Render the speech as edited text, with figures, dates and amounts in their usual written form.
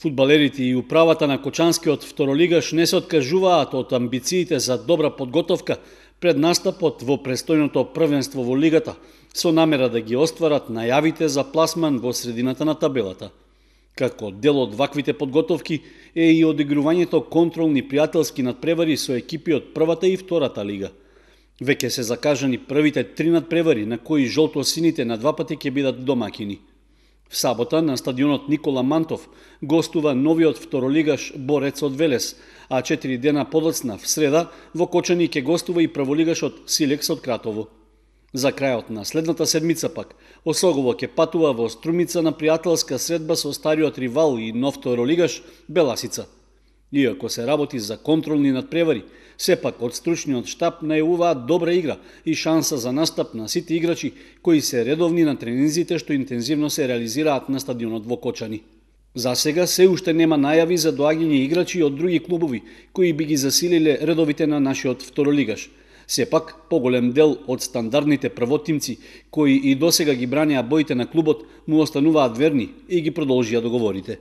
Фудбалерите и управата на Кочанскиот второлигаш не се откажуваат од амбициите за добра подготовка пред настапот во престојното првенство во лигата, со намера да ги остварат најавите за пласман во средината на табелата. Како дел од ваквите подготовки е и одигрувањето контролни пријателски надпревари со екипи од првата и втората лига. Веќе се закажани првите 3 надпревари на кои жолто-сините на два пати ќе бидат домакини. В сабота на стадионот Никола Мантов гостува новиот второлигаш Борец од Велес, а 4 дена подоцна в среда во Кочани ќе гостува и прволигашот Силекс од Кратово. За крајот на следната седмица пак Осогово ќе патува во Струмица на пријателска средба со стариот ривал и нов второлигаш Беласица. Иако се работи за контролни надпревари, сепак од стручниот штаб најавуваат добра игра и шанса за настап на сите играчи кои се редовни на тренинзите што интензивно се реализираат на стадионот во Кочани. За сега се уште нема најави за доаѓање играчи од други клубови кои би ги засилиле редовите на нашиот второлигаш. Сепак, поголем дел од стандардните првотимци кои и досега ги бранеа боите на клубот му остануваат верни и ги продолжија договорите.